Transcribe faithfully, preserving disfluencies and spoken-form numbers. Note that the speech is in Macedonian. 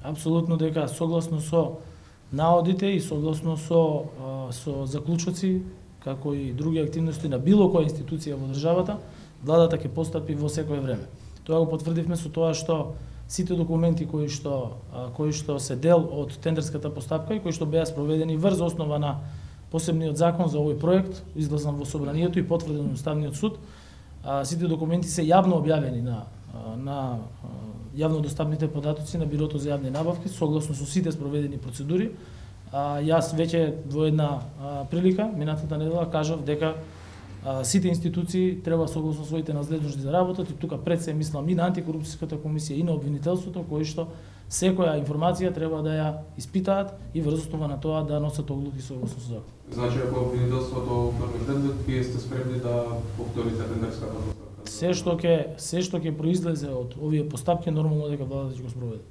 Апсолутно дека согласно со наодите и согласно со со заклучоци, како и други активности на било која институција во државата, владата ќе постапи во секое време. Тоа го потврдивме со тоа што сите документи кои што кои што се дел од тендерската постапка и кои што беа спроведени врз основа на посебниот закон за овој проект, изгласан во собранието и потврден од Уставниот суд, сите документи се јавно објавени на на јавно достапните податоци на Бирото за јавни набавки, согласно со сите спроведени процедури. А, јас веќе во една а, прилика, минатата недела, кажав дека а, сите институции треба согласно своите надлежности да работат и тука пред се мислам и на антикорупцијската комисија и на обвинителството, кои што секоја информација треба да ја испитаат и врз основа на тоа да носат одлуки согласно со закон. Значи, ако обвинителството отвори тендер, вие сте спремни да повторите тендерската постапка? Се што ќе се што ќе произлезе од овие постапки, нормално дека владата ќе го спроведе.